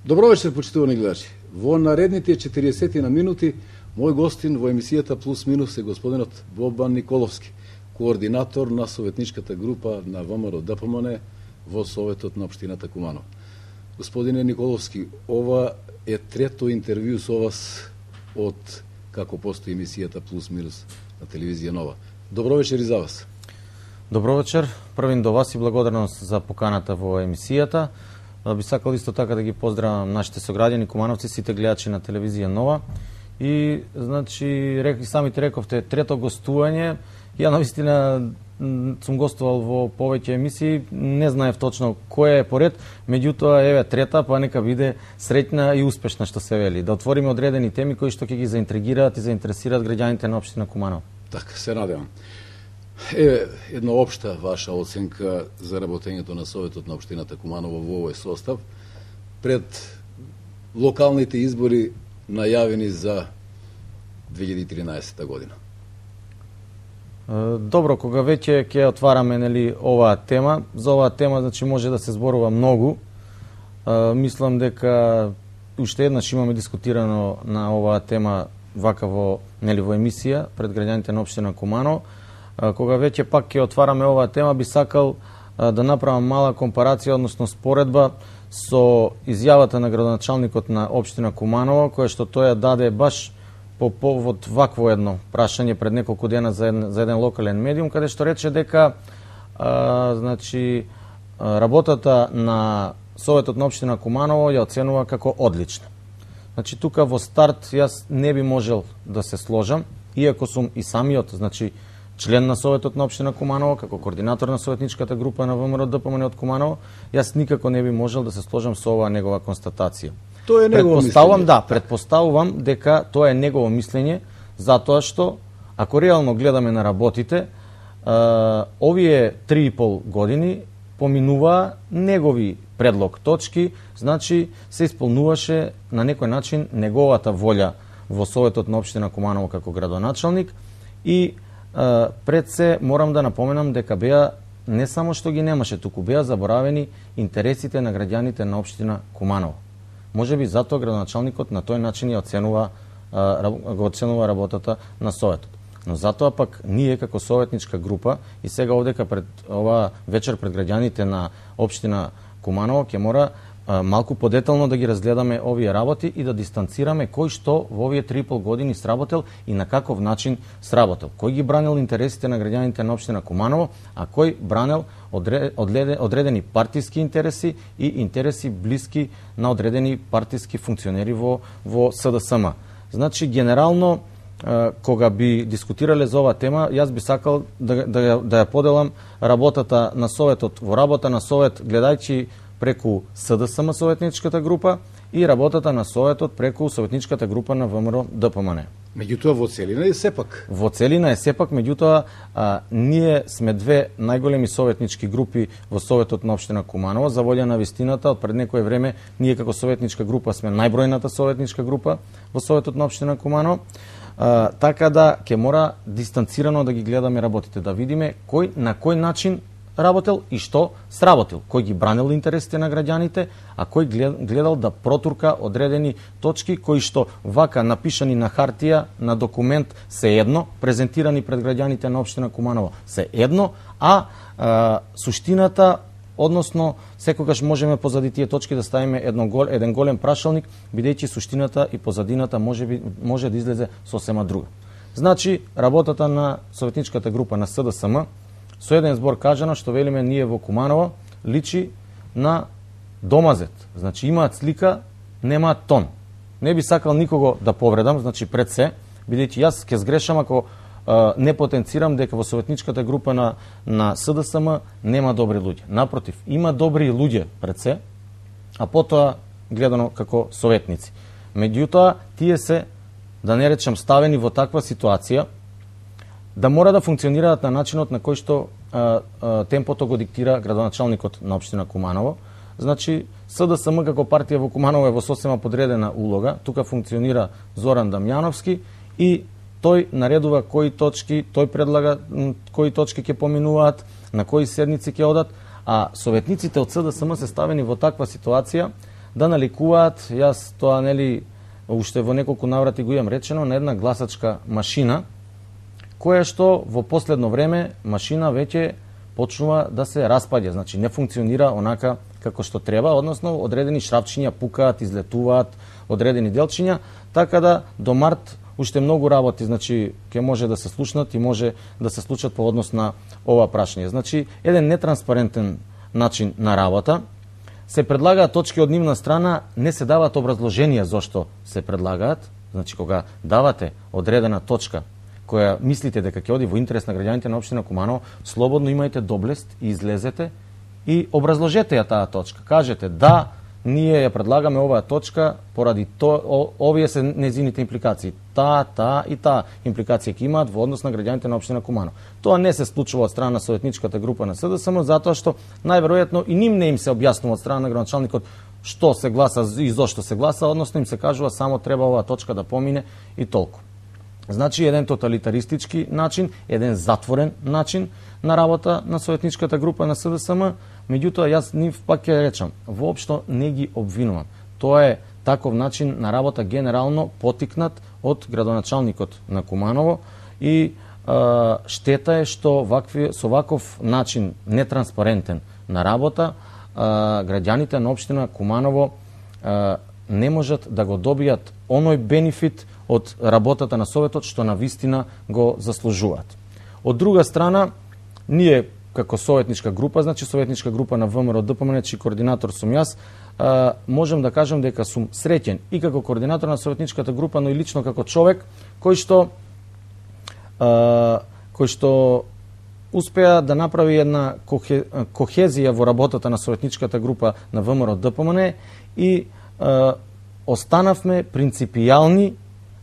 Добро вечер, почитувани гледачи. Во наредните 40 на минути, мој гостин во емисијата Плюс Минус е господинот Бобан Николовски, координатор на советничката група на ВМРО ДПМН во Советот на општината Куманово. Господине Николовски, ова е трето интервју со вас од како постои емисијата Плюс Минус на телевизија Нова. Добро вечер и за вас. Добро вечер, првин до вас и благодарност за поканата во емисијата. Би сакал исто така да ги поздравам нашите сограѓани, кумановци, сите гледачи на телевизија Нова. И, значи, самите рековте, трето гостување. Ја навистина сум гостувал во повеќе емисии, не знаев точно која е поред, меѓутоа еве трета, па нека биде среќна и успешна, што се вели. Да отвориме одредени теми кои што ќе ги заинтригираат и заинтересираат граѓаните на општина Куманово. Така, се надевам. Еве една општа ваша оценка за работењето на Советот на општината Куманово во овој состав пред локалните избори најавени за 2013 година. Добро, кога веќе ќе отвараме оваа тема, за оваа тема значи може да се зборува многу. Мислам дека уште еднаш имаме дискутирано на оваа тема вака во емисија пред граѓаните на општина Куманово. Кога веќе пак ќе отвараме оваа тема, би сакал да направам мала компарација, односно споредба со изјавата на градоначалникот на општина Куманово, која што тој ја даде баш по повод вакво едно прашање пред неколку дена за еден локален медиум, каде што рече дека значи работата на Советот на општина Куманово ја оценува како одлична. Значи тука во старт јас не би можел да се сложам, иако сум и самиот, значи член на Советот на општина Куманово, како координатор на советничката група на ВМРО ДПМН од Куманово, јас никако не би можел да се сложам со оваа негова констатација. Тоа е негово мислење. Да, предпоставувам дека тоа е негово мислење, затоа што ако реално гледаме на работите, овие 3,5 години поминуваа негови предлог точки, значи се исполнуваше на некој начин неговата волја во Советот на општина Куманово како градоначалник и пред се морам да напоменам дека беа не само што ги немаше, туку беа заборавени интересите на граѓаните на општина Куманово. Може би затоа градоначалникот на тој начин ја оценува работата на Советот. Но затоа пак ние како советничка група и сега овдека пред ова вечер пред граѓаните на општина Куманово ќе мора малку подетално да ги разгледаме овие работи и да дистанцираме кој што во овие 3,5 години сработел и на каков начин сработел. Кој ги бранил интересите на граѓаните на општина Куманово, а кој бранел одредени партиски интереси и интереси блиски на одредени партиски функционери во СДСМ. Значи, генерално, кога би дискутирале за оваа тема, јас би сакал да ја поделам работата на Советот во работа на Совет, гледајќи преку СДСМ советничката група и работата на Советот преку советничката група на ВМРО ДПМН. Меѓутоа во целина е сепак. Во целина е сепак, меѓутоа ние сме две најголеми советнички групи во Советот на општина Куманово. За волја на вистината, од пред некое време ние како советничка група сме најбројната советничка група во Советот на општина Куманово. Така да ќе мора дистанцирано да ги гледаме работите, да видиме кој на кој начин работел и што сработил, кој ги бранил интересите на граѓаните, а кој гледал да протурка одредени точки кои што вака напишани на хартија, на документ се едно, презентирани пред граѓаните на општина Куманово се едно, а суштината, односно секогаш можеме позади тие точки да ставиме еден голем прашалник, бидејќи суштината и позадината може да излезе сосема друга. Значи, работата на советничката група на СДСМ со еден збор кажано, што велиме ние во Куманово, личи на домазет. Значи, имаат слика, немаат тон. Не би сакал никого да повредам, значи пред се, бидејќи јас ќе сгрешам ако не потенцирам дека во советничката група на СДСМ нема добри луѓе. Напротив, има добри луѓе пред се, а потоа гледано како советници. Меѓутоа, тие се, да не речем, ставени во таква ситуација, да мора да функционираат на начинот на кој што темпото го диктира градоначалникот на општина Куманово. Значи, СДСМ како партија во Куманово е во сосема подредена улога. Тука функционира Зоран Дамјановски и тој наредува кои точки, тој предлага кои точки ќе поминуваат, на кои седници ќе одат, а советниците од СДСМ се ставени во таква ситуација да наликуваат, јас тоа нели уште во неколку наврати го имам речено, на една гласачка машина, која што во последно време машина веќе почнува да се распаѓа, значи не функционира онака како што треба, односно одредени шрапчиња пукаат, излетуваат, одредени делчиња, така да до март уште многу работи, значи ќе може да се слушнат и може да се случат по однос на ова прашање. Значи еден нетранспарентен начин на работа. Се предлагаат точки од нивна страна, не се дават образложенија зошто се предлагаат. Значи кога давате одредена точка која мислите дека ќе оди во интерес на граѓаните на општина Куманово, слободно имајте доблест и излезете и образложете ја таа точка. Кажете да, ние ја предлагаме оваа точка поради овие се незините импликации. Таа и таа импликација ќе имаат во однос на граѓаните на општина Куманово. Тоа не се случува од страна на советничката група на СДСМ, затоа што најверојатно и ним не им се објаснува од страна на градоначалникот што се гласа и зошто се гласа, односно им се кажува само треба оваа точка да помине и толку. Значи еден тоталитаристички начин, еден затворен начин на работа на советничката група на СДСМ, меѓутоа јас нив пак ќе речам, воопшто не ги обвинувам. Тоа е таков начин на работа генерално потикнат од градоначалникот на Куманово и штета е што со ваков начин нетранспарентен на работа граѓаните на општина Куманово не можат да го добијат оној бенефит од работата на Советот што навистина го заслужуваат. Од друга страна, ние како советничка група, значи советничка група на ВМРО ДПМН, чиј координатор сум јас, можем да кажем дека сум среќен и како координатор на советничката група, но и лично како човек кој што успеа да направи една кохезија во работата на советничката група на ВМРО ДПМН и останавме принципијални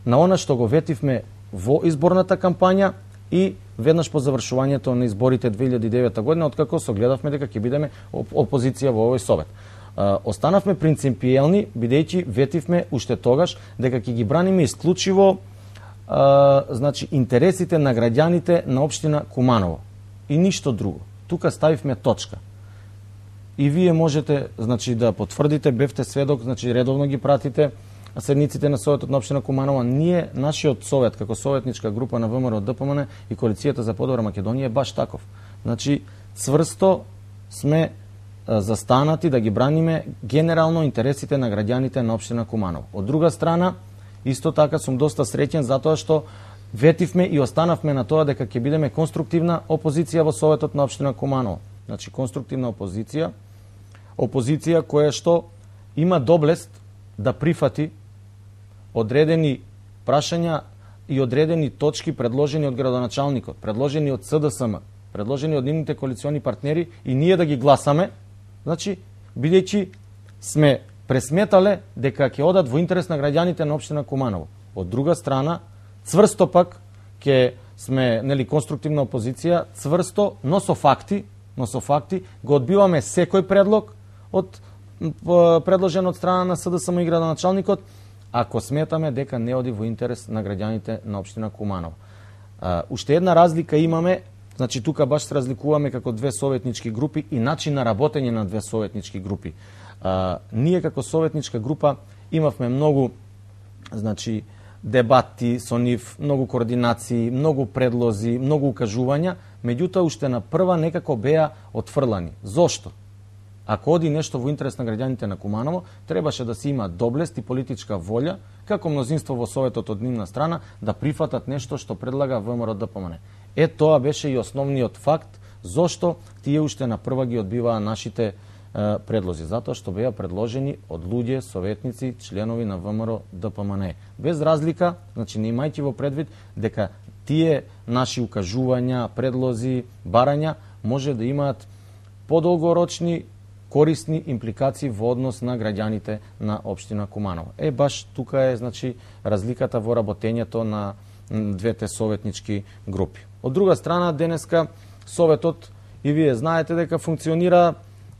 на она што го ветивме во изборната кампања и веднаш по завршувањето на изборите 2009 година, откако согледавме дека ќе бидеме опозиција во овој совет. Останавме принципијални, бидејќи ветивме уште тогаш дека ќе ги браниме исклучиво значи интересите на граѓаните на општина Куманово и ништо друго. Тука ставивме точка. И вие можете значи да потврдите, бевте сведок, значи редовно ги пратите седниците на Советот на општина Куманово. Ние, нашиот совет, како советничка група на ВМРО ДПМН и Коалицијата за подобра Македонија е баш таков. Значи, цврсто сме застанати да ги браниме генерално интересите на граѓаните на општина Куманово. Од друга страна, исто така сум доста среќен затоа што ветивме и останавме на тоа дека ќе бидеме конструктивна опозиција во Советот на општина Куманово. Значи, конструктивна опозиција која што има доблест да прифати одредени прашања и одредени точки предложени од градоначалникот, предложени од СДСМ, предложени од нивните коалициони партнери и ние да ги гласаме, значи, бидејќи сме пресметале дека ќе одат во интерес на граѓаните на општина Куманово. Од друга страна, цврсто пак ќе сме нели конструктивна опозиција, цврсто, но со факти го одбиваме секој предлог од предложен од страна на СДСМ и градоначалникот, ако сметаме дека не оди во интерес на граѓаните на општина Куманово. Уште една разлика имаме, значи тука баш се разликуваме како две советнички групи и начин на работење на две советнички групи. Ние како советничка група имавме многу значи дебати со нив, многу координации, многу предлози, многу укажувања, меѓутоа уште на прва некако беа отфрлани. Зошто? Ако оди нешто во интерес на граѓаните на Куманово, требаше да се има доблест и политичка волја, како мнозинство во Советот од нивна страна, да прифатат нешто што предлага ВМРО ДПМН. Тоа беше и основниот факт, зошто тие уште на прва ги одбиваа нашите предлози, затоа што беа предложени од луѓе, советници, членови на ВМРО ДПМН. Без разлика, значи не имајќи во предвид дека тие наши укажувања, предлози, барања може да имаат подолгорочни корисни импликации во однос на граѓаните на општина Куманово. Баш тука е значи разликата во работењето на двете советнички групи. Од друга страна, денеска Советот, и вие знаете дека функционира,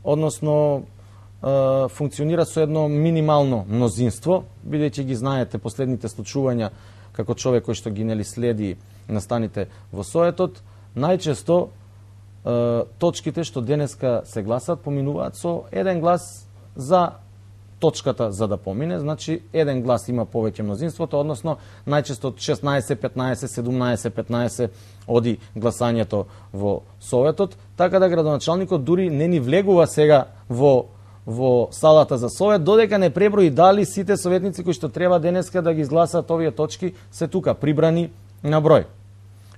односно функционира со едно минимално мнозинство, бидејќи ги знаете последните случувања како човек кој што ги нели следи настаните во Советот, најчесто точките што денеска се гласат поминуваат со еден глас за точката за да помине, значи еден глас има повеќе мнозинството, односно најчесто 16, 15, 17, 15 оди гласањето во Советот, така да градоначалникот дури не ни влегува сега во салата за Совет, додека не преброи дали сите советници кои што треба денеска да ги изгласаат овие точки се тука прибрани на број.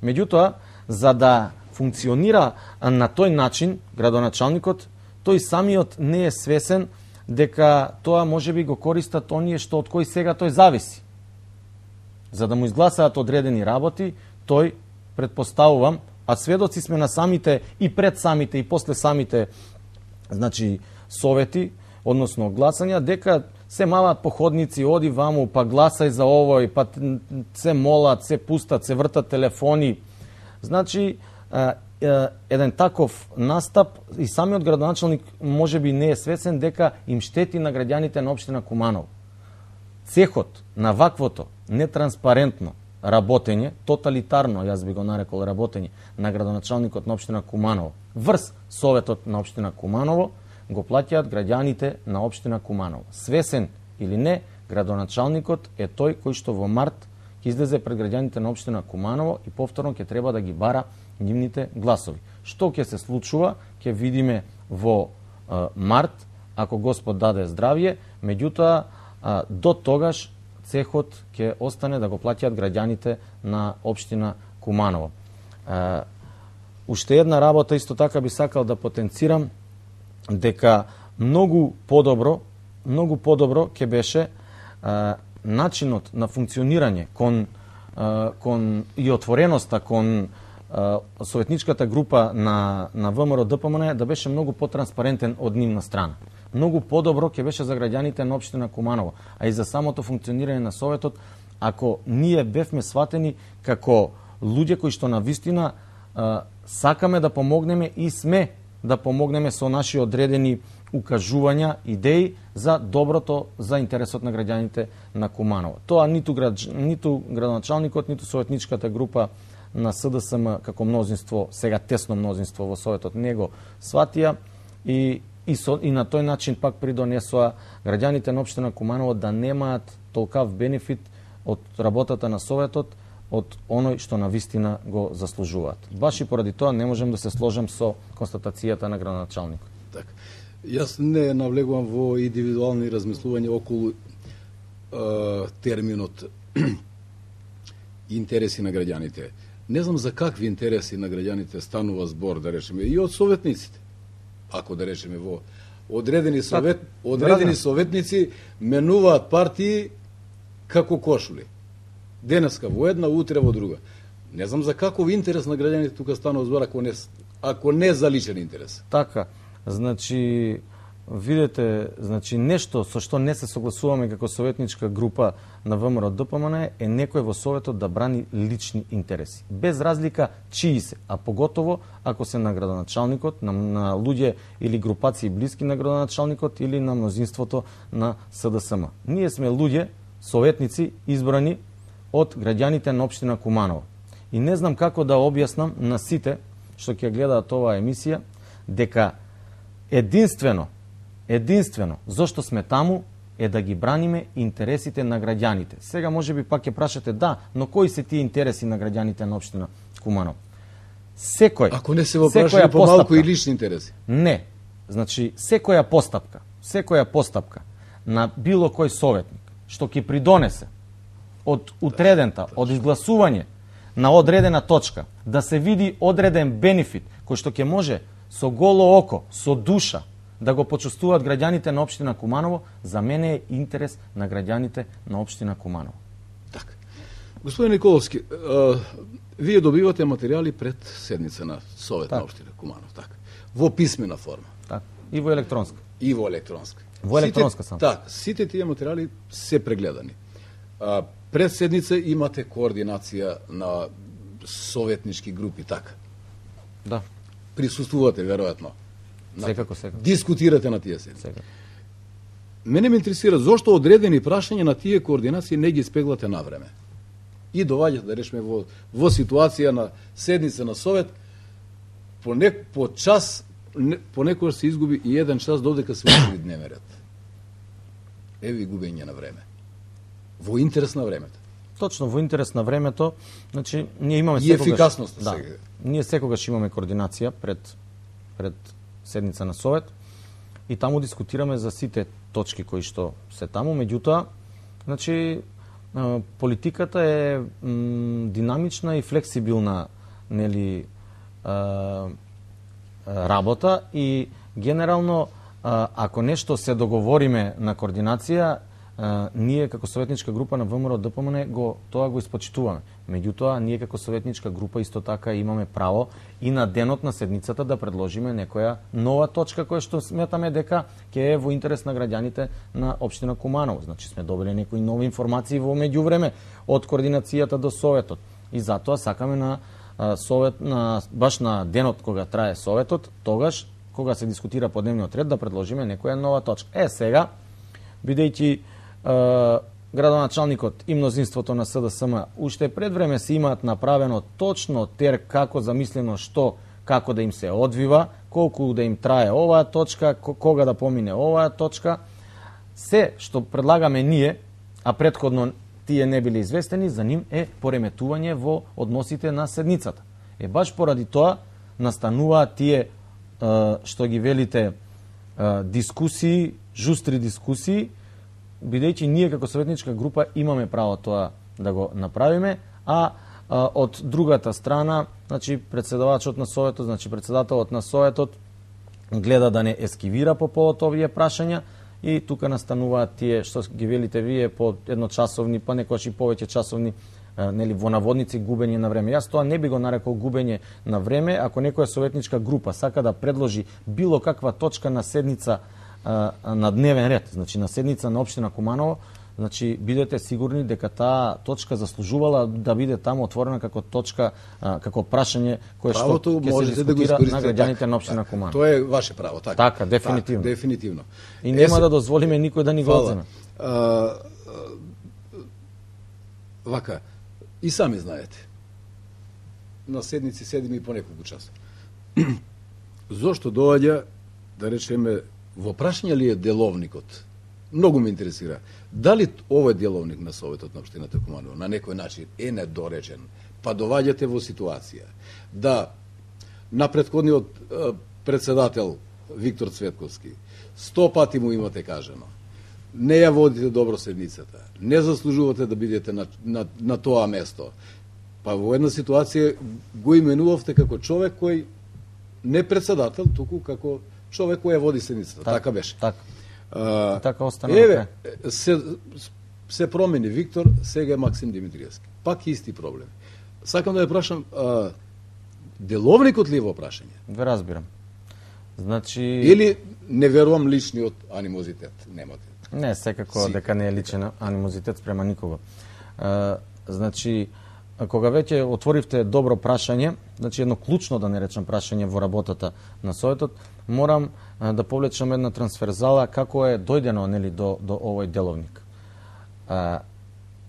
Меѓутоа, за да функционира на тој начин градоначалникот, тој самиот не е свесен дека тоа може би го користат оние што од кои сега тој зависи. За да му изгласаат одредени работи, тој, предпоставувам, а сведоци сме на самите и пред самите и после самите, значи, совети, односно гласања, дека се мават походници, оди ваму, па гласај за овој, па се молат, се пустат, се вртат телефони. Значи, еден таков настап и самиот градоначалник може би не е свесен дека им штети на граѓаните на општина Куманово. Цехот на ваквото нетранспарентно работење, тоталитарно, јас би го нарекол работење, на градоначалникот на општина Куманово врз Советот на општина Куманово, го плаќаат граѓаните на општина Куманово. Свесен или не, градоначалникот е тој кој што во март ќе излезе пред граѓаните на општина Куманово и повторно ќе треба да ги бара нивните гласови. Што ќе се случува, ќе видиме во март, ако Господ даде здравје, меѓутоа до тогаш цехот ќе остане да го плаќаат граѓаните на општина Куманово. Уште една работа исто така би сакал да потенцирам, дека многу подобро ќе беше начинот на функционирање кон и отвореноста кон советничката група на ВМРО ДПМН да беше многу потранспарентен од нивна страна. Многу подобро ќе беше за граѓаните на општина Куманово, а и за самото функционирање на Советот, ако ние бевме сватени како луѓе кои што на вистина сакаме да помогнеме и сме да помогнеме со наши одредени укажувања, идеи за доброто, за интересот на граѓаните на Куманово. Тоа ниту градоначалникот, ниту советничката група на СДСМ како мнозинство, сега тесно мнозинство во Советот, не го сватија и на тој начин пак придонесоа граѓаните на општина Куманово да немаат толкав бенефит од работата на Советот, од оној што на вистина го заслужуваат. Баш и поради тоа не можем да се сложам со констатацијата на градоначалникот. Така. Јас не навлегувам во индивидуални размислувања околу терминот интереси на граѓаните. Не знам за какви интереси на граѓаните станува збор, да речеме, и од советниците. Ако да речеме во одредени советници менуваат партии како кошули. Денеска во една, утре во друга. Не знам за каков интерес на граѓаните тука станува збор, ако не за личен интерес. Така, значи, видете, значи нешто со што не се согласуваме како советничка група на ВМРО ДПМН е некој во Советот да брани лични интереси. Без разлика чии се, а поготово ако се на градоначалникот, на луѓе или групации блиски на градоначалникот или на мнозинството на СДСМ. Ние сме луѓе, советници, избрани од граѓаните на општина Куманово. И не знам како да објаснам на сите што ќе гледаат оваа емисија, дека единствено зошто сме таму е да ги браниме интересите на граѓаните. Сега може би пак ќе прашате, да, но кои се тие интереси на граѓаните на општина Куманово? Секој. Ако не се во прашање помалку и лични интереси. Не. Значи, секоја постапка на било кој советник што ќе придонесе од утредента, од изгласување на одредена точка, да се види одреден бенефит кој што ќе може со голо око, со душа, да го почувствуваат граѓаните на општина Куманово, за мене е интерес на граѓаните на општина Куманово. Така. Господин Николовски, вие добивате материјали пред седница на Совет на општина Куманово, така. Во писмена форма. Така. И во електронска. Во електронска само. Така, сите тие материјали се прегледани. Пред седница имате координација на советнички групи, така. Да. Присуствувате, веројатно. Секако. Дискутирате на тие седници. Мене ме интересира зошто одредени прашања на тие координации не ги спеглате на време. И доваѓате, да речеме, во ситуација на седница на Совет, по час, понекогаш се изгуби и еден час додека се утврди дневен ред. Еви губење на време. Во интерес на времето. Точно, во интерес на времето, значи ние имаме и ефикасност да, сега. Ние секогаш имаме координација пред седница на совет и таму дискутираме за сите точки кои што се таму, меѓутоа, значи политиката е динамична и флексибилна, нели, работа и генерално ако нешто се договориме на координација, ние како советничка група на ВМРО ДПМН тоа го испочитуваме. Меѓутоа, ние како советничка група исто така имаме право и на денот на седницата да предложиме некоја нова точка која што сметаме дека ќе е во интерес на граѓаните на општина Куманово. Значи сме добили некои нови информации во меѓувреме од координацијата до советот. И затоа сакаме на совет баш на денот кога трае советот, тогаш кога се дискутира по дневниот ред да предложиме некоја нова точка. Сега, бидејќи градоначалникот и мнозинството на СДСМ уште пред време се имаат направено точно тер како замислено што, како да им се одвива, колку да им трае оваа точка, кога да помине оваа точка. Се што предлагаме ние, а претходно тие не биле известени, за ним е пореметување во односите на седницата. Баш поради тоа настануваат тие што ги велите дискусии, жустри дискусии, бидејќи ние како советничка група имаме право тоа да го направиме, а од другата страна, значи председавачот на советот, значи председателот на советот гледа да не ескивира по повод овие прашања и тука настануваат тие што ги велите вие по едночасовни, па некојаш и повеќе часовни, нели, во наводници губење на време. Јас тоа не би го нарекол губење на време, ако некоја советничка група сака да предложи било каква точка на седница на дневен ред, значи на седница на општина Куманово, значи бидете сигурни дека таа точка заслужувала да биде таму отворена како точка, како прашање кое што ќе се дискутира на граѓаните на општина Куманово. Тоа е ваше право, така. Така, дефинитивно. Так, дефинитивно. И нема да дозволиме никој да ни го одземе. Вака, и сами знаете. На седници седиме и по неколку часа. Зошто доаѓа, да речеме, во прашање ли е деловникот? Многу ме интересира. Дали овој деловник на Советот на општината Куманово на некој начин е недоречен, па доваѓате во ситуација да на претходниот председател Виктор Цветковски 100 пати му имате кажано, не ја водите добро седницата, не заслужувате да бидете на тоа место, па во една ситуација го именувавте како човек кој не председател, туку како човек кој ја води седницата. Така беше. Така остана. Еве, се промени Виктор, сега е Максим Димитриевски. Пак исти проблеми. Сакам да ја прашам, деловникот ли е во прашање? Ве разбирам. Значи... Или не верувам личниот анимозитет, немате? Не, секако дека не е личен анимозитет спрема никого. Значи, кога веќе отворивте добро прашање, значи едно клучно, да не речам, прашање во работата на Советот, морам да повлечам една трансферзала како е дојдено, нели, до овој деловник.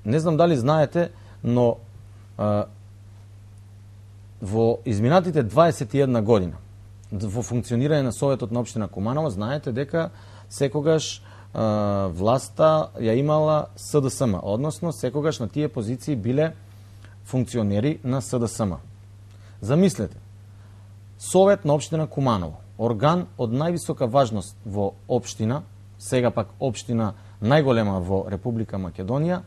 Не знам дали знаете, но во изминатите 21 година во функционирање на Советот на општина Куманово, знаете дека секогаш власта ја имала СДСМ, односно секогаш на тие позиции биле функционери на СДСМ. Замислете, Совет на општина Куманово, орган од највисока важност во општина, сега пак општина најголема во Република Македонија,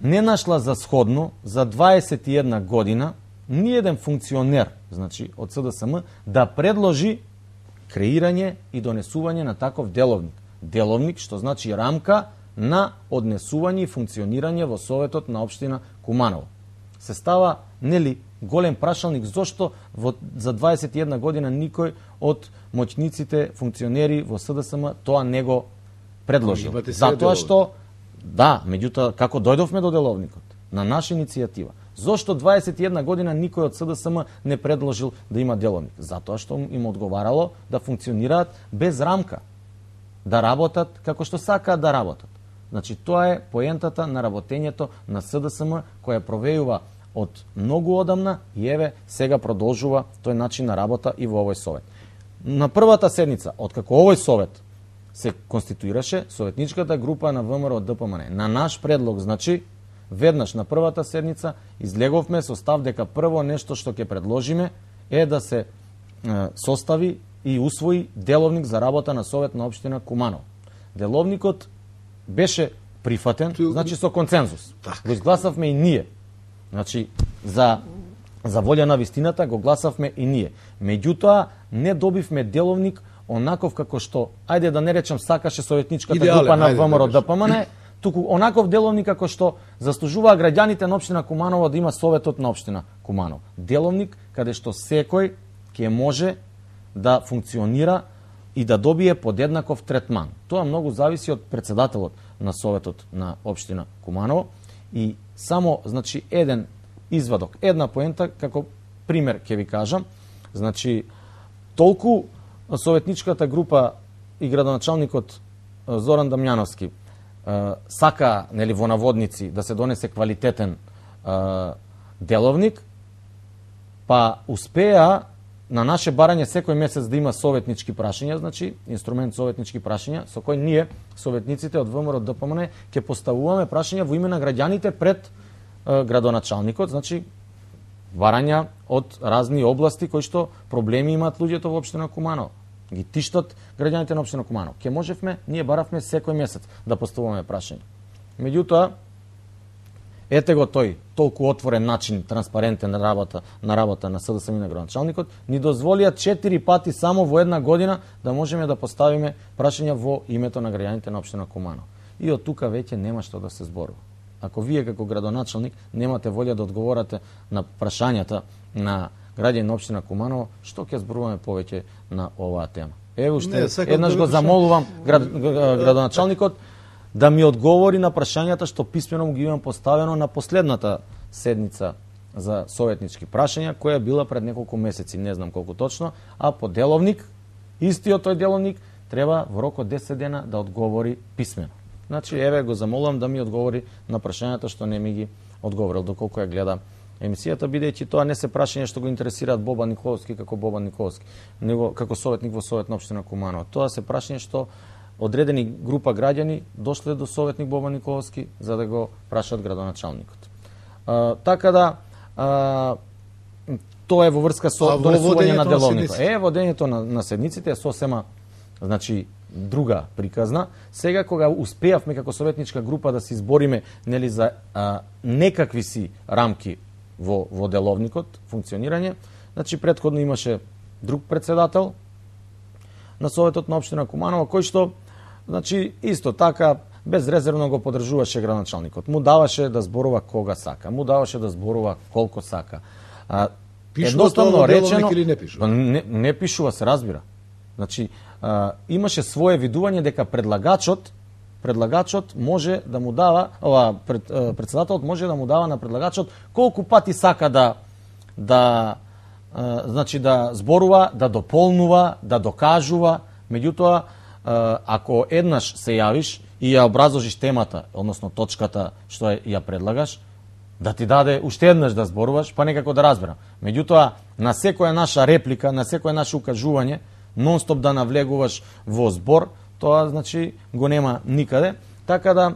не нашла за сходно за 21 година ниеден функционер, значи од СДСМ, да предложи креирање и донесување на таков деловник. Деловник, што значи рамка на однесување и функционирање во Советот на општина Куманово. Се става, нели, голем прашалник зошто за 21 година никој од моќниците функционери во СДСМ тоа не го предложил. Затоа што, да, меѓутоа, како дојдовме до деловникот? На наша иницијатива. Зошто 21 година никој од СДСМ не предложил да има деловник? Затоа што им одговарало да функционираат без рамка, да работат како што сакаат да работат. Значи, тоа е поентата на работењето на СДСМ, која провејува од многу одамна и еве сега продолжува тој начин на работа и во овој совет. На првата седница, откако овој совет се конституираше советничката група на ВМРО ДПМН. На наш предлог, значи, веднаш на првата седница излеговме со став дека прво нешто што ќе предложиме е да се состави и усвои деловник за работа на Совет на општина Куманово. Деловникот беше прифатен, значи со концензус. Го изгласавме и ние. Значи, за волја на вистината го гласавме и ние. Меѓутоа, не добивме деловник онаков како што, ајде да не речем, сакаше советничката група на ВМРО ДПМН, туку онаков деловник како што заслужуваа граѓаните на општина Куманово да има Советот на општина Куманово. Деловник каде што секој ќе може да функционира и да добие подеднаков третман. Тоа многу зависи од председателот на Советот на општина Куманово и само, значи, еден извадок, една поента, како пример ќе ви кажам. Значи, толку советничката група и градоначалникот Зоран Дамјановски сака, нели, во наводници да се донесе квалитетен деловник, па успеа на наше барање секој месец да има советнички прашања, значи инструмент советнички прашања, со кој ние, советниците од ВМРО ДПМН, ќе поставуваме прашања во име на граѓаните пред градоначалникот, значи барања од разни области кои што проблеми имаат луѓето во општина Куманово. Ги тиштат граѓаните на општина Куманово. Ке можевме, ние баравме секој месец да поставуваме прашања. Меѓутоа, ете го тој толку отворен начин, транспарентен на работа на СДСМ и на градоначалникот, ни дозволија 4 пати само во една година да можеме да поставиме прашања во името на граѓаните на општина Куманово. И од тука веќе нема што да се зборува. Ако вие како градоначалник немате волја да одговорате на прашањата на граѓани на општина Куманово, што ќе зборуваме повеќе на оваа тема? Ево уште еднаш го замолувам градоначалникот да ми одговори на прашањата што писмено му ги имам поставено на последната седница за советнички прашања, која била пред неколку месеци, не знам колку точно, а по деловник, истиот тој деловник, треба во рок од 10 дена да одговори писмено. Значи, еве го замолувам да ми одговори на прашањата што не ми ги одговорил, доколку ја гледа емисијата, бидејќи тоа не се прашања што го интересираат Бобан Николовски како Бобан Николовски, него како советник во Совет на општина Куманово. Тоа се прашања што одредени група граѓани дошле до советник Бобан Николовски за да го прашаат градоначалникот. Така да, тоа е во врска со донесување на деловникот. Водењето на седниците е сосема, значи, друга приказна. Сега кога успеавме како советничка група да се избориме, нели, за некакви си рамки во деловникот, функционирање, значи претходно имаше друг председател на Советот на општина Куманово, кој што, значи, исто така безрезервно го поддржуваше градоначалникот. Му даваше да зборува кога сака, му даваше да зборува колку сака. Едноставно речено, или не пишува? Не пишува, се разбира. Значи, имаше свое видување дека предлагачот може да му дава, председателот може да му дава на предлагачот колку пати сака значи да зборува, да дополнува, да докажува. Меѓутоа, ако еднаш се јавиш и ја образложиш темата, односно точката што ја предлагаш, да ти даде уште еднаш да зборуваш, па некако да разберам. Меѓутоа, на секоја наша реплика, на секоја наше укажување, нон-стоп да навлегуваш во збор, тоа, значи, го нема никаде. Така да,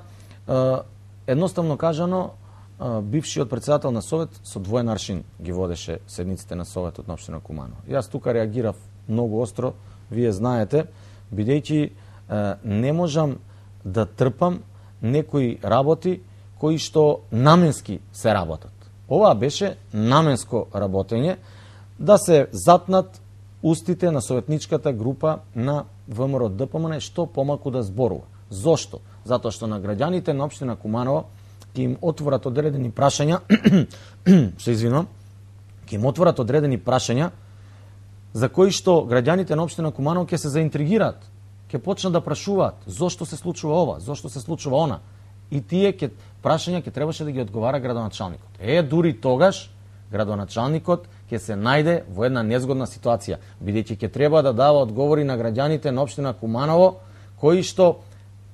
едноставно кажано, бившиот председател на Совет со двоен аршин ги водеше седниците на Советот на општина Куманово. Јас тука реагирав многу остро, вие знаете, бидејќи не можам да трпам некои работи кои што наменски се работат. Ова беше наменско работење да се затнат устите на советничката група на ВМРО ДПМН што помалку да зборува. Зошто? Затоа што на граѓаните на општина Куманово ќе им отворат одредени прашања, се извинувам, ќе им отворат одредени прашања за кои што граѓаните на општина Куманово ќе се заинтригираат, ќе почнат да прашуваат зошто се случува ова, зошто се случува она. И тие прашања ќе требаше да ги одговара градоначалникот. Дури тогаш градоначалникот ќе се најде во една незгодна ситуација, бидејќи ќе треба да дава одговори на граѓаните на општина Куманово кои што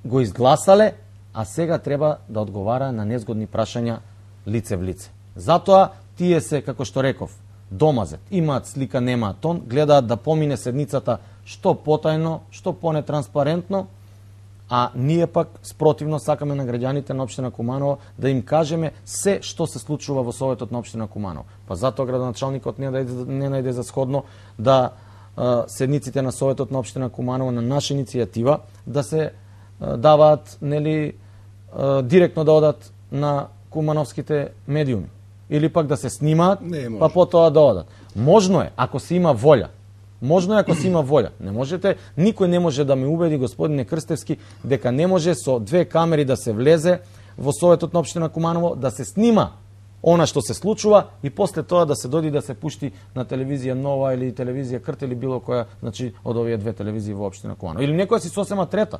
го изгласале, а сега треба да одговара на незгодни прашања лице в лице. Затоа тие се, како што реков, домазет, имаат слика, немаат тон, гледаат да помине седницата што потајно, што понетранспарентно а ние пак спротивно сакаме на граѓаните на општина Куманово да им кажеме се што се случува во Советот на општина Куманово. Па затоа градоначалникот не најде за сходно да седниците на Советот на општина Куманово на наша иницијатива да се даваат директно да одат на кумановските медиуми или пак да се снимаат, па потоа да одат. Можно е ако се има волја. Можно е ако се има волја. Не можете, никој не може да ме убеди, господине Крстевски, дека не може со 2 камери да се влезе во Советот на општина Куманово, да се снима она што се случува и после тоа да се доди да се пушти на телевизија Нова или телевизија Крт или било која, значи од овие 2 телевизии во општина Куманово. Или некоја си сосема трета.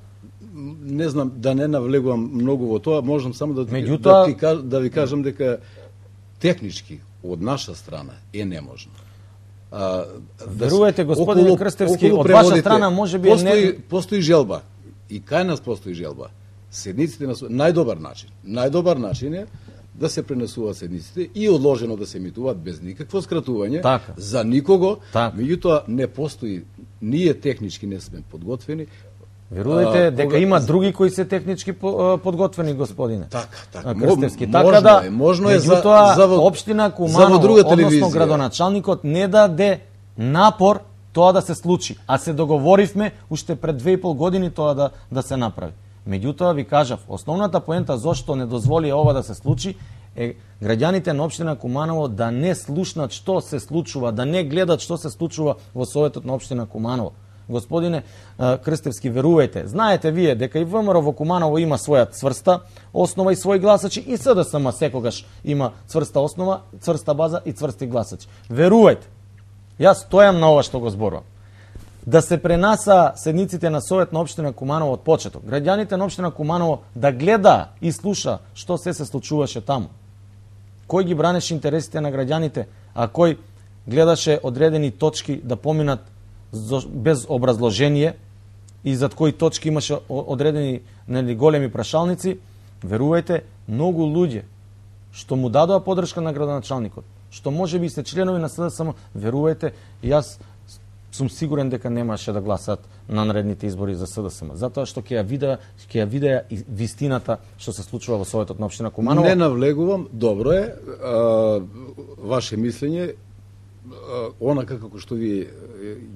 Не знам, да не навлегувам многу во тоа, можам само да ви кажам дека технички од наша страна е неможно. Верувате, господине Крстевски, од ваша страна може би постои желба. И кај нас постои желба. Седниците на најдобар начин е да се пренесуваат седниците и одложено да се емитуваат без никакво скратување за никого. Меѓутоа не постои, ние технички не сме подготвени. Верувате дека има други кои се технички подготвени, господине. Така. Крстевски. Можно е за општина Куманово, односно градоначалникот не даде напор тоа да се случи, а се договоривме уште пред 2,5 години тоа да се направи. Меѓутоа ви кажав, основната поента зошто не дозволи ова да се случи е граѓаните на општина Куманово да не слушнат што се случува, да не гледат што се случува во Советот на општина Куманово. Господине Крстевски, верувајте, знаете вие дека и ВМРО во Куманово има своја цврста основа и своји гласачи и СДСМ секогаш има цврста основа, цврста база и цврсти гласачи. Верувајте, јас стојам на ова што го зборувам. Да се пренаса седниците на Совет на општина Куманово од почеток. Граѓаните на општина Куманово да гледа и слуша што се случуваше таму. Кој ги бранеше интересите на граѓаните, а кој гледаше одредени точки да поминат без образложение и зад кои точки имаше одредени големи прашалници. Верувајте, многу луѓе што му дадоа подршка на градоначалникот, што може би се членови на СДСМ, верувајте, јас сум сигурен дека немаше да гласат на наредните избори за СДСМ, затоа што ќе ја видеа и вистината што се случува во Советот на општина Куманово. Не навлегувам, добро е, ваше мислење, онака како што вие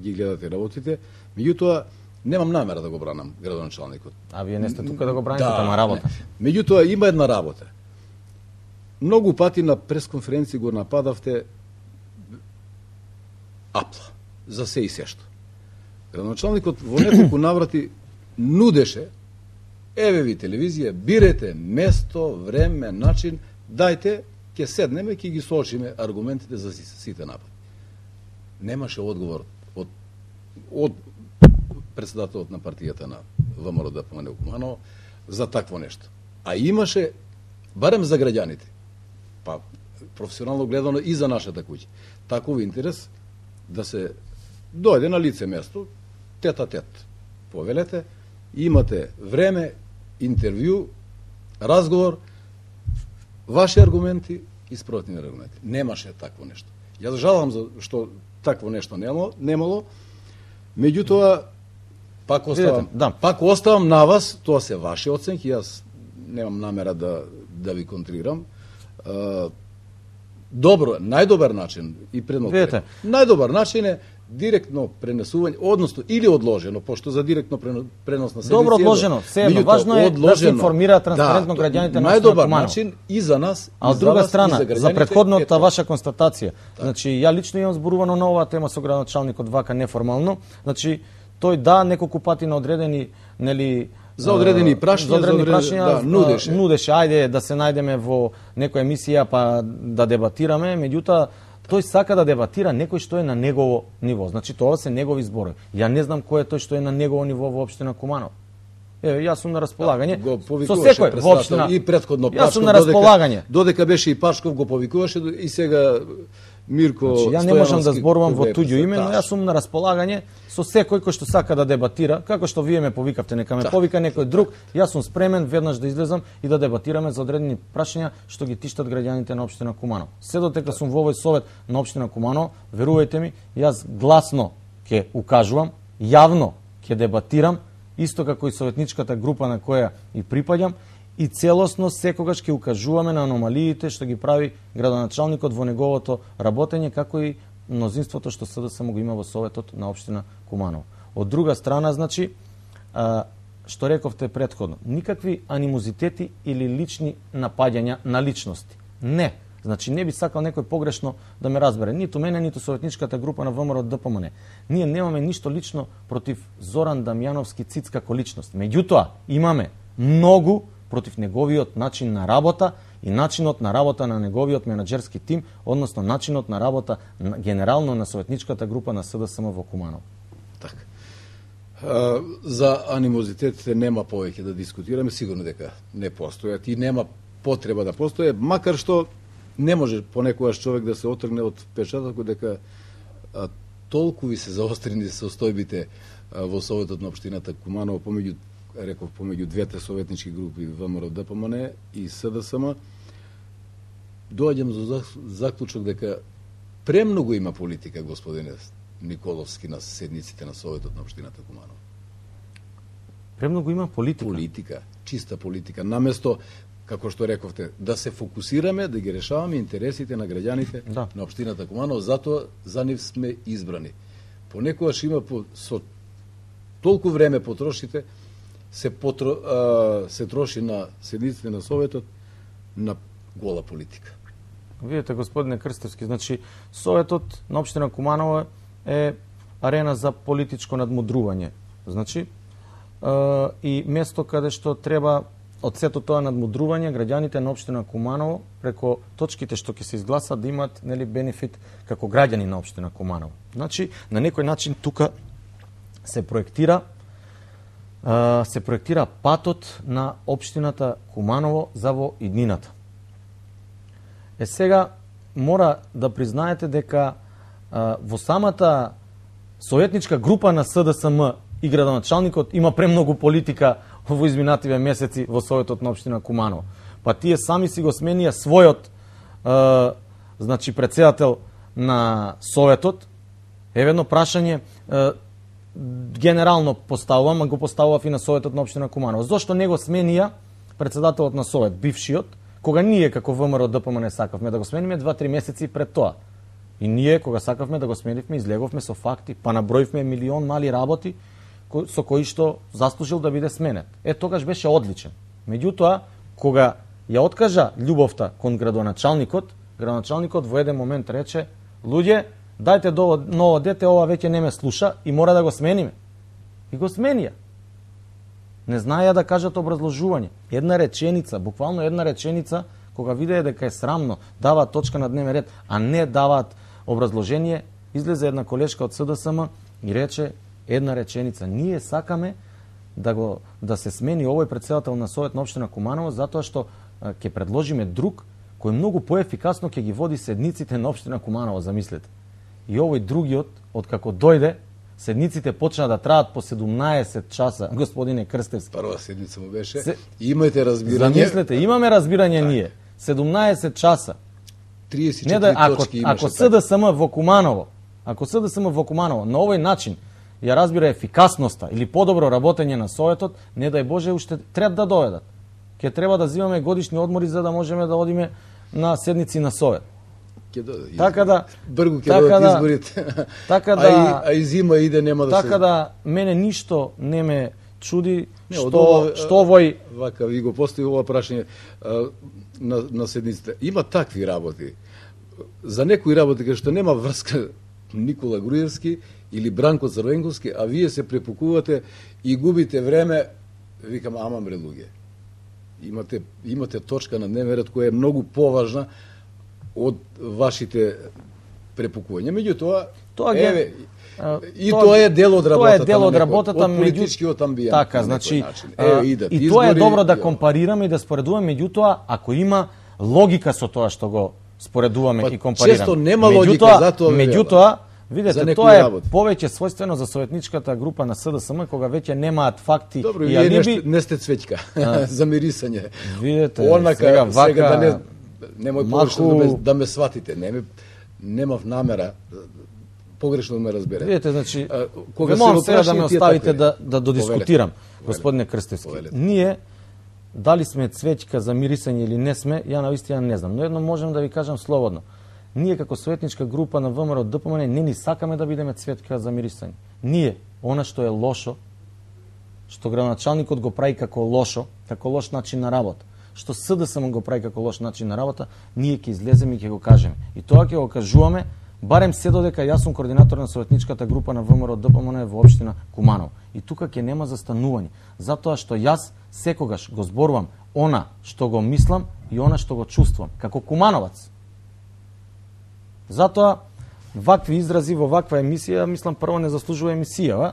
ги гледате работите, меѓутоа немам намера да го бранам градоначалникот. А вие не сте тука да го браните, тама работа. Меѓутоа има една работа. Многу пати на пресконференција го нападавте апла за се и сешто. Градоначалникот во неколку наврати нудеше, еве ви телевизија, бирете место, време, начин, дајте, ќе седнеме, ќе ги соочиме аргументите за сите напади. Немаше одговор од председателот на партијата на ВМРО ДПМН Куманово за такво нешто. А имаше, барем за граѓаните, па професионално гледано и за нашата куќа, таков интерес да се дојде на лице место, тет-а-тет, повелете, имате време, интервју, разговор, ваши аргументи и спротивни аргументи. Немаше такво нешто. Јас жалам за што такво нешто немало, меѓутоа пак оставам на вас, тоа се ваши оценки, јас немам намера да ви контрирам. Добро, најдобар начин и предносно. Најдобар начин е директно пренесување, односно или одложено, пошто за директно пренос на седници. Добро одложено, сеедно, важно е да се информира транспарентно граѓаните на најдобар начин и за нас, а од друга страна, за претходната ваша констатација. Значи, ја лично имам зборувано на оваа тема со градоначалникот вака неформално. Значи, тој неколку пати на одредени, за одредени прашања нудеше, ајде да се најдеме во некоја емисија па да дебатираме, меѓутоа тој сака да дебатира некој што е на негово ниво. Значи тоа се негови зборови. Ја не знам кој е тој што е на негово ниво во општина Куманово. Еве, јас сум на располагање. Со секој во општина и претходно Јас сум на располагање. Додека беше и Пашков го повикуваше и сега Мирко Стојановски. Ја не можам да зборувам во туѓо име, но јас сум на располагање со секој кој што сака да дебатира, како што вие ме повикавте, нека ме повика некој друг, јас сум спремен веднаш да излезам и да дебатираме за одредени прашања што ги тиштат граѓаните на општина Куманово. Се додека сум во овој совет на општина Куманово, верувајте ми, јас гласно ќе укажувам, јавно ќе дебатирам исто како и советничката група на која и припаѓам, и целосно секогаш ќе укажуваме на аномалиите што ги прави градоначалникот во неговото работење, како и мнозинството што СДСМ го има во Советот на општина Куманово. Од друга страна, значи, што рековте претходно, никакви анимозитети или лични напаѓања на личности. Не. Значи, не би сакал некој погрешно да ме разбере. Ниту мене, ниту советничката група на ВМРО ДПМН. Ние немаме ништо лично против Зоран Дамјановски Циц како личност. Меѓутоа, имаме многу против неговиот начин на работа и начинот на работа на неговиот менаџерски тим, односно начинот на работа генерално на советничката група на СДСМ во Куманово. Така. За анимозитетите нема повеќе да дискутираме, сигурно дека не постојат и нема потреба да постоje, макар што не може понекогаш човек да се отргне од впечатокот дека толку ви се заострени состојбите во Советот на општината Куманово помеѓу двете советнички групи ВМРО ДПМН и СДСМ. Доаѓам за заклучок дека премногу има политика, господине Николовски, на седниците на Советот на општината Куманово. Премногу има политика. Политика, чиста политика. Наместо, како што рековте, да се фокусираме, да ги решаваме интересите на граѓаните на општината Куманово, затоа за нив сме избрани. Понекогаш има со толку време потрошите, се троши на седниците на Советот на гола политика. Видете, господине Крстевски, значи Советот на општина Куманово е арена за политичко надмудрување. Значи, и место каде што треба од сето тоа надмудрување граѓаните на општина Куманово преко точките што ќе се изгласат да имат, нели, бенефит како граѓани на општина Куманово. Значи, на некој начин тука се проектира патот на општината Куманово за во иднината. Сега мора да признаете дека во самата советничка група на СДСМ и градоначалникот има премногу политика во изминативе месеци во Советот на општина Куманово. Па тие сами си го сменија својот значи претседател на Советот. Еве едно прашање генерално поставувам, а го поставував и на Советот на општина Куманово. Зошто не го сменија претседателот на Совет, бившиот, кога ние како ВМРО ДПМН сакавме да го смениме 2-3 месеци пред тоа? И ние, кога сакавме да го сменивме, излеговме со факти, па наброивме милион мали работи со кои што заслужил да биде сменет. Тогаш беше одличен. Меѓутоа, кога ја откажа љубовта кон градоначалникот во еден момент рече: луѓе, дајте ново дете, ова веќе не ме слуша и мора да го смениме. И го сменија. Не знаеја да кажат образложување. Една реченица, буквално една реченица, кога видеа дека е срамно, даваат точка на дневен ред, а не даваат образложение, излезе една колешка од СДСМ и рече една реченица: ние сакаме да се смени овој претседател на Совет на општина Куманово затоа што ќе предложиме друг кој многу поефикасно ќе ги води седниците на општина Куманово, замислете. И овој другиот, откако дојде, седниците почна да траат по 17 часа, господине Крстевски. Прва седница му беше. Имајте разбирање. Замислете, имаме разбирање ние. 17 часа. 34 точки имаше. Ако СДСМ во Куманово, на овој начин ја разбира ефикасноста или подобро работење на Советот, не дај Боже, уште треба да доведат. Ќе треба да земаме годишни одмори за да можеме да одиме на седници на Совет. Така да бргу ќе додат изборите. Така да а и зима иде, нема да се. Така да мене ништо не ме чуди што овој вака ви го постави ова прашање на седниците. Има такви работи. За некои работи кај што нема врска Никола Груевски или Бранко Црвенковски, а вие се препукувате и губите време, викам, ама мре луѓе. Имате точка на дневен ред која е многу поважна од вашите препукувања. Меѓутоа, тоа е дел од работата. Тоа е дел од работата, од политичкиот амбиент. Така, значи, и тоа е добро да компарираме и да споредуваме, меѓутоа, ако има логика со тоа што го споредуваме и компарираме. Често нема логика, затоа меѓутоа, видете, тоа е повеќе својствено за советничката група на СДСМ, кога веќе немаат факти и алиби. Не сте цвеќка за мирисање. Видете, сега вака немој повеќе да ме сватите. Немав намера. погрешно ме разбере. Видете, значи, кога морам се сега да ме оставите такви... да додискутирам, господине Крстевски. Ние, дали сме цвеќка за мирисање или не сме, ја навистина не знам. Но едно можем да ви кажам слободно. Ние како советничка група на ВМРО ДПМН не ни сакаме да бидеме цветка за мирисање. Ние, она што е лошо, што градоначалникот го прави како лошо, како лош начин на работа, што СДСМ го прави како лош начин на работа, ние ќе излеземе и ќе го кажеме. И тоа ќе го кажуваме, барем се додека јас сум координатор на советничката група на ВМРО ДПМН во општина Куманово. И тука ќе нема застанување, затоа што јас секогаш го зборувам она што го мислам и она што го чувствувам, како кумановац. Затоа, вакви изрази во ваква емисија, мислам, прво не заслужува емисија,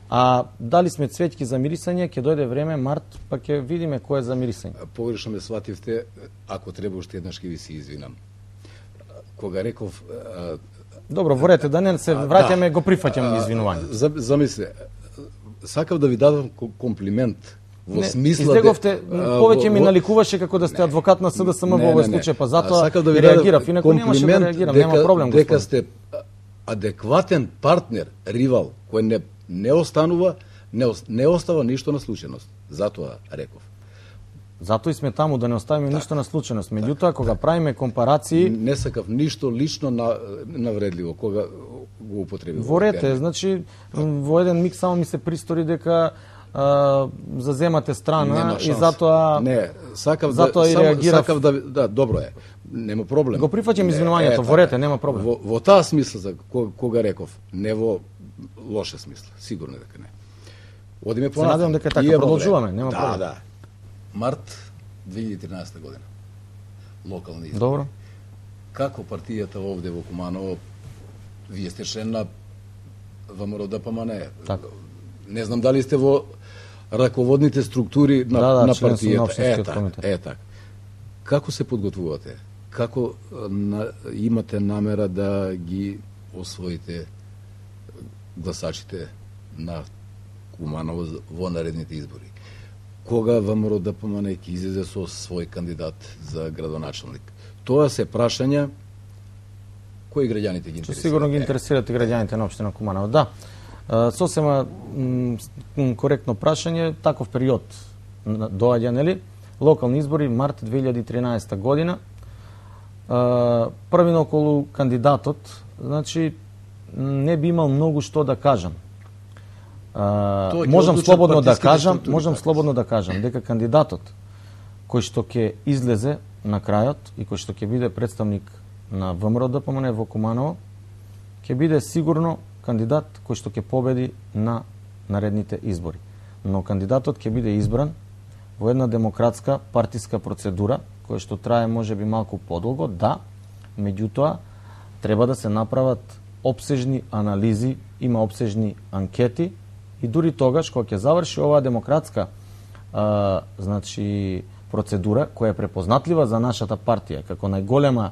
а дали сме цвеќки за мирисање, ќе дојде време, март, па ќе видиме кој е за мирисање. Погрешно ме свативте, ако треба уште еднаш ќе ви се извинам. Кога реков... Добро, ворете, да не се враќаме, го прифаќам извинување. Замисле, сакав да ви дадам комплимент. Во смисла излеговте, повеќе ми наликуваше како да сте адвокат на СДСМ во овој случај, па затоа реагирав, инаку немаше да реагирам, нема проблем, господин. Дека сте адекватен партнер, ривал, кој не останува, не остава ништо на случајност. Затоа реков. Затоа и сме таму да не оставиме ништо на случајност. Меѓутоа, кога правиме компарации, не сакав ништо лично навредливо кога го употребив. Ворете, значи во еден миг само ми се пристори дека заземате страна и затоа сакав да добро е. Нема проблем. Го прифаќам извинувањето, ворете, нема проблем. Во таа смисла за кога реков, не во лоша смисла, сигурно дека не. Одиме понатаму. Се надевам дека така продолжуваме, нема проблем. Да. Март 2013 година. Локални избори. Добро. Како партијата овде во Куманово, вие сте член на ВМРО ДПМН. Така. Не знам дали сте во раководните структури на партијата. Така. Како се подготвувате? Како имате намера да ги освоите гласачите на Куманово во наредните избори? Кога ВМРО ДПМН ќе излезе со свој кандидат за градоначалник? Тоа се прашања кои граѓаните ги интересираат. Сигурно ги интересираат и граѓаните на општина Куманово. Да. Сосема коректно прашање, таков период доаѓа, нели? Локални избори март 2013 година. Првино околу кандидатот, значи не би имал многу што да кажам. Можам слободно да кажам дека кандидатот кој што ќе излезе на крајот и кој што ќе биде представник на ВМРО ДПМН во Куманово ќе биде сигурно кандидат кој што ќе победи на наредните избори. Но кандидатот ќе биде избран во една демократска партиска процедура која што трае можеби малку подолго, да, меѓутоа треба да се направат опсежни анализи, има опсежни анкети и дури тогаш кога ќе заврши оваа демократска значи процедура која е препознатлива за нашата партија како најголема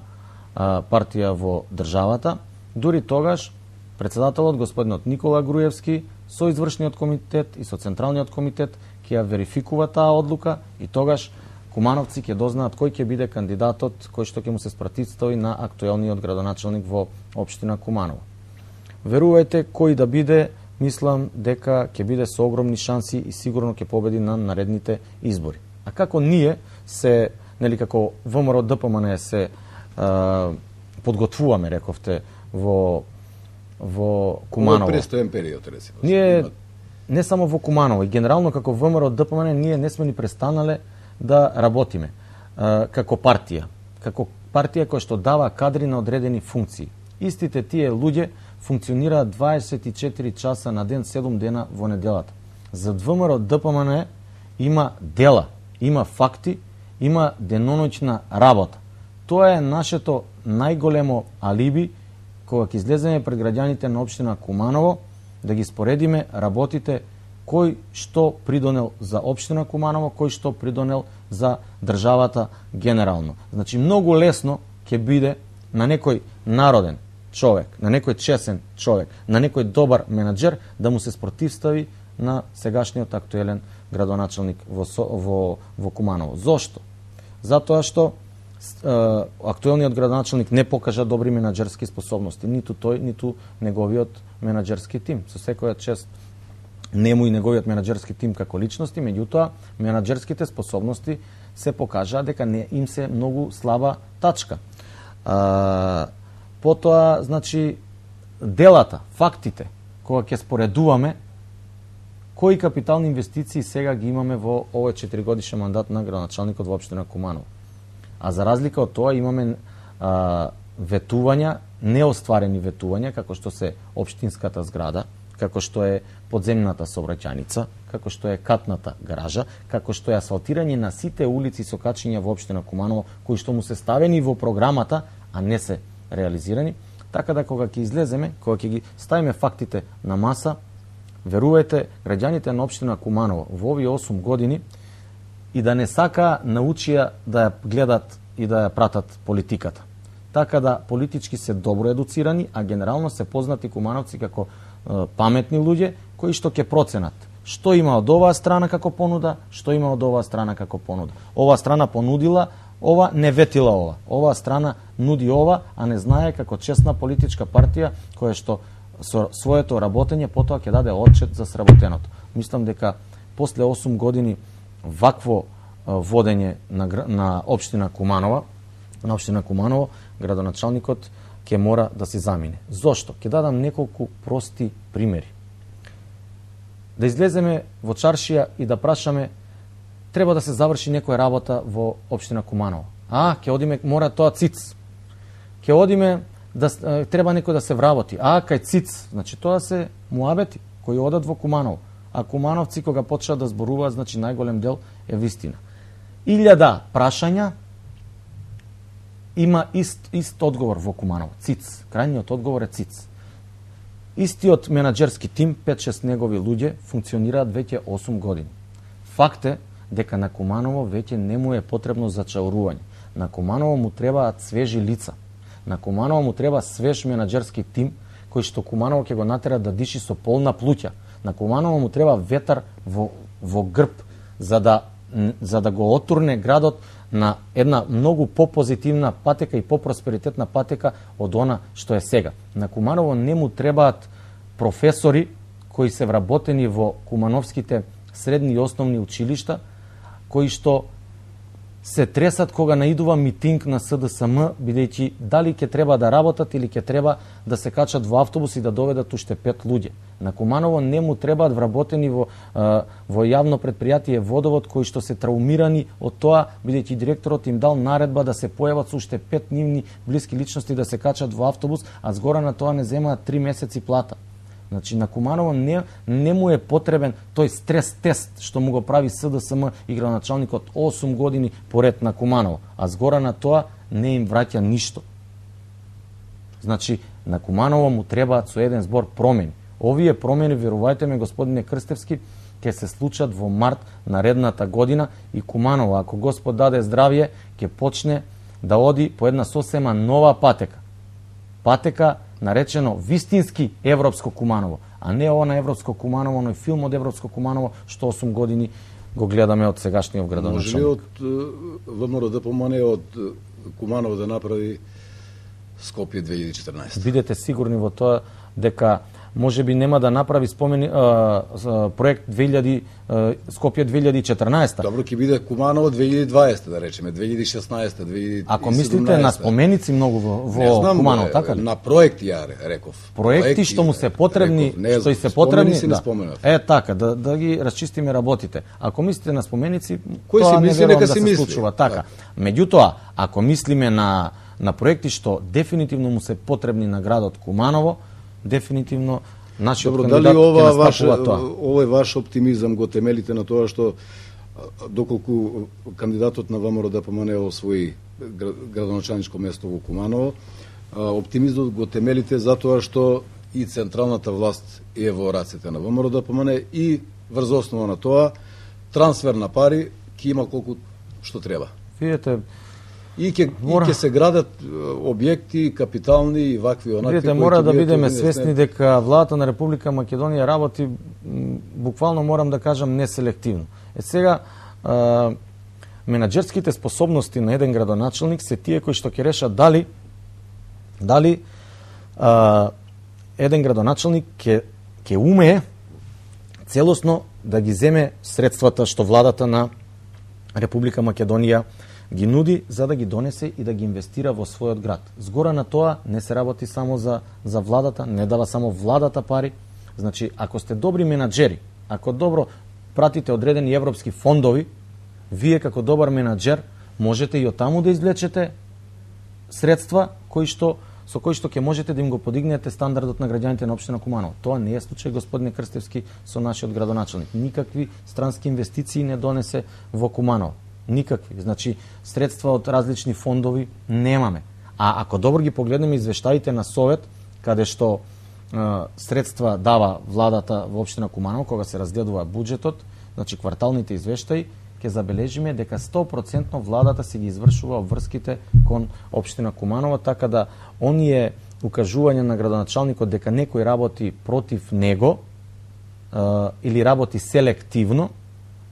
партија во државата, дури тогаш председателот господинот Никола Груевски со извршниот комитет и со централниот комитет ќе ја верификува таа одлука и тогаш кумановци ќе дознаат кој ќе биде кандидатот кој што ќе му се спратистои на актуелниот градоначалник во општина Куманово. Верувајте кој да биде, мислам дека ќе биде со огромни шанси и сигурно ќе победи на наредните избори. А како ние се, нели како ВМРО ДПМН се подготвуваме, рековте, во Куманово. Во престоен период, рецимо. Ние не само во Куманово, и генерално како ВМРО ДПМН ние не сме ни престанале да работиме како партија која што дава кадри на одредени функции. Истите тие луѓе функционираат 24 часа на ден, 7 дена во неделата. За ВМРО ДПМН има дела, има факти, има деноноќна работа. Тоа е нашето најголемо алиби кога ќе излеземе пред граѓаните на општина Куманово да ги споредиме работите кој што придонел за општина Куманово, кој што придонел за државата генерално. Значи многу лесно ќе биде на некој народен човек, на некој чесен човек, на некој добар менаџер да му се спротивстави на сегашниот актуелен градоначалник во Куманово. Зошто? Затоа што актуелниот градоначалник не покажа добри менаџерски способности, ниту тој, ниту неговиот менаџерски тим. Со секоја чест нему и неговиот менаџерски тим како личности, меѓутоа менаџерските способности се покажаа дека не им се многу слаба тачка. Потоа, значи, делата, фактите, кога ќе споредуваме, кои капитални инвестиции сега ги имаме во овој 4-годишен мандат на градоначалникот во општина Куманово. А за разлика од тоа имаме ветувања, неостварени ветувања, како што се општинската зграда, како што е подземната сообраќајница, како што е катната гаража, како што е асфалтирање на сите улици со качиња во општина Куманово, кои што му се ставени во програмата, а не се реализирани. Така да кога ќе излеземе, кога ќе ги ставиме фактите на маса, верувајте, граѓаните на општина Куманово во овие 8 години и да не сака научија да ја гледат и да ја пратат политиката. Така да политички се добро едуцирани, а генерално се познати кумановци како паметни луѓе кои што ќе проценат што има од оваа страна како понуда, што има од оваа страна како понуда. Оваа страна понудила ова, не ветила ова. Оваа страна нуди ова, а не знае како честна политичка партија која што со своето работење потоа ќе даде отчет за сработеното. Мислам дека после 8 години вакво водење на општина Куманово, градоначалникот ќе мора да се замине. Зошто? Ќе дадам неколку прости примери. Да излеземе во чаршија и да прашаме треба да се заврши некоја работа во општина Куманово. Ќе одиме, мора тоа циц. Ќе одиме треба некој да се вработи. Кај циц, значи тоа се муабети кои одат во Куманово. А кумановци кога почнат да зборуваат, значи најголем дел е вистина. 1000 прашања има ист одговор во Куманово. ЦИЦ. Крајниот одговор е ЦИЦ. Истиот менаџерски тим, 5-6 негови луѓе, функционираат веќе 8 години. Факт е дека на Куманово веќе не му е потребно зачаурување. На Куманово му требаат свежи лица. На Куманово му треба свеж менаџерски тим, кој што Куманово ќе го натера да диши со полна плуќа. На Куманово му треба ветар во грб, за да го отурне градот на една многу попозитивна патека и попросперитетна патека од она што е сега. На Куманово не му требаат професори кои се вработени во кумановските средни и основни училишта, кои што се тресат кога наидува митинг на СДСМ, бидејќи дали ќе треба да работат или ќе треба да се качат во автобус и да доведат уште 5 луѓе. На Куманово не му требаат вработени во јавно предпријатие Водовод кои што се траумирани од тоа, бидејќи директорот им дал наредба да се појават со уште 5 нивни блиски личности да се качат во автобус, а згора на тоа не земаат 3 месеци плата. Значи на Куманово не му е потребен тој стрес тест што му го прави СДСМ и градоначалникот 8 години поред на Куманово, а згора на тоа не им враќа ништо. Значи на Куманово му требаат со еден збор промени. Овие промени, верувајте ме господине Крстевски, ќе се случат во март наредната година и Куманово, ако Господ даде здравје, ќе почне да оди по една сосема нова патека. Патека наречено вистински европско Куманово, а не ова на европско Куманово, но и филм од европско Куманово што 8 години го гледаме од сегашниот градоначалник. Може ли од ВМРО да помане од Куманово да направи Скопје 2014? Бидете сигурни во тоа дека може би нема да направи проект Скопје 2014. Добро, ќе биде Куманово 2020, да речеме, 2016, 2017. Ако мислите на споменици многу во Куманово, така ли? На проекти, ја реков. Проекти што му се потребни, што и се потребни, така, да ги расчистиме работите. Ако мислите на споменици, тоа не верувам да се случува, така. Меѓутоа, ако мислиме на проекти што дефинитивно му се потребни на градот Куманово, дефинитивно нашиот кандидат ќе настапува тоа. Овој ваш оптимизам го темелите на тоа што доколку кандидатот на ВМРО ДПМН освои градоначалничко место во Куманово, оптимизмот го темелите затоа што и централната власт е во рацете на ВМРО ДПМН и врз основа на тоа трансфер на пари ќе има колку што треба. Видете, И ќе се градат објекти капитални и вакви онакви. Видете, мора да бидеме свесни дека владата на Република Македонија работи буквално, морам да кажам, неселективно. Сега менаџерските способности на еден градоначелник се тие кои што ќе решат дали еден градоначелник ќе умее целосно да ги земе средствата што владата на Република Македонија ги нуди за да ги донесе и да ги инвестира во својот град. Згора на тоа не се работи само за владата, не дава само владата пари. Значи, ако сте добри менаџери, ако добро пратите одредени европски фондови, вие како добар менаџер можете и од таму да извлечете средства со кои што ќе можете да им го подигнете стандардот на граѓаните на општина Куманово. Тоа не е случај, господине Крстевски, со нашиот градоначелник. Никакви странски инвестиции не донесе во Куманово. Никакви. Значи, средства од различни фондови немаме. А ако добро ги погледнеме извештаите на Совет, каде што средства дава владата во општина Куманово, кога се разгледува буџетот, значи кварталните извештаи, ќе забележиме дека 100% владата се ги извршува обврските кон општина Куманово, така да оние укажување на градоначалникот дека некој работи против него или работи селективно,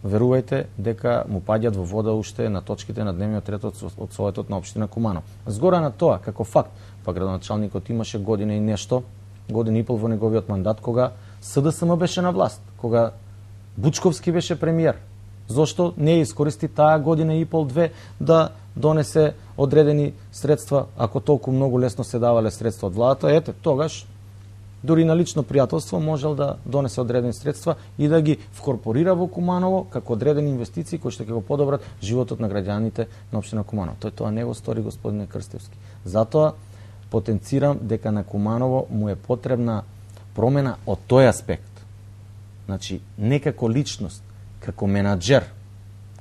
верувајте дека му паѓат во вода уште на точките на дневниот ред од Советот на општина Куманово. Згора на тоа, како факт, па градоначалникот имаше година и нешто, година и пол во неговиот мандат, кога СДСМ беше на власт, кога Бучковски беше премиер. Зошто не искористи таа година и пол-две да донесе одредени средства, ако толку многу лесно се давале средства од владата? Ете, тогаш дури на лично пријателство можел да донесе одредени средства и да ги вкорпорира во Куманово како одредени инвестиции кои што ќе го подобрат животот на граѓаните на општина Куманово. Тоа не го стори господине Крстевски. Затоа потенцирам дека на Куманово му е потребна промена од тој аспект. Значи, не како личност, како менаџер,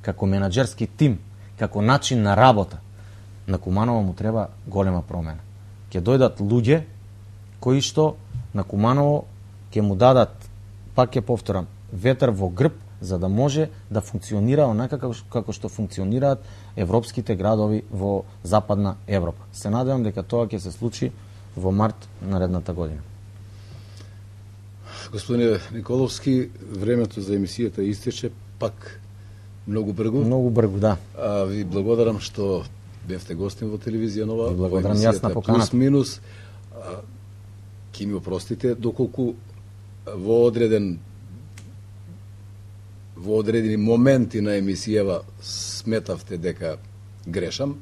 како менаџерски тим, како начин на работа, на Куманово му треба голема промена. Ќе дојдат луѓе кои што на Куманово ќе му дадат, пак ќе повторам, ветер во грб, за да може да функционира онака како што функционираат европските градови во Западна Европа. Се надевам дека тоа ќе се случи во март наредната година. Господине Николовски, времето за емисијата истече пак многу бргу. Многу бргу, да. Ви благодарам што бевте гостин во телевизија Нова. Ви благодарам јас на поканата. Плюс минус. Ки ми опростите доколку во одредени моменти на емисијава сметавте дека грешам.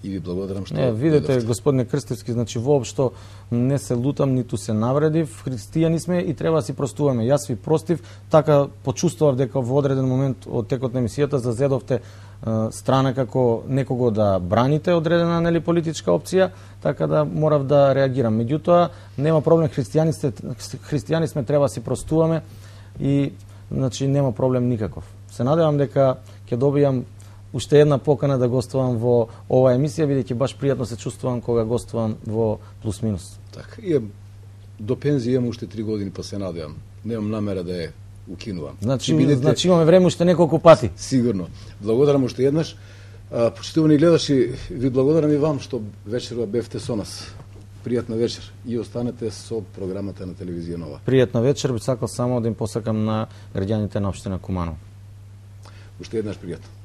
И ви благодарам што... Не, видете, господине Крстевски, значи воопшто не се лутам, ниту се навредив. Христијани сме и треба да си простуваме. Јас ви простив, така почувствував дека во одреден момент од текот на емисијата зазедовте страна како некого да браните одредена политичка опција, така да морав да реагирам. Меѓутоа, нема проблем, христијани сме, треба да си простуваме и значи нема проблем никаков. Се надевам дека ќе добијам уште една покана да гостувам во оваа емисија, бидејќи баш пријатно се чувствувам кога гостувам во Плюс Минус. Така, до пензија имам уште 3 години, па се надевам. Немам намера да ја укинувам. Значи имаме време уште неколку пати. Сигурно. Благодарам уште еднаш. Почитувани гледачи, ви благодарам и вам што вечерва бевте со нас. Пријатна вечер и останете со програмата на телевизија Нова. Пријатна вечер, би сакал само да им посакам на граѓаните на општина Куманово. Уште еднаш пријатно.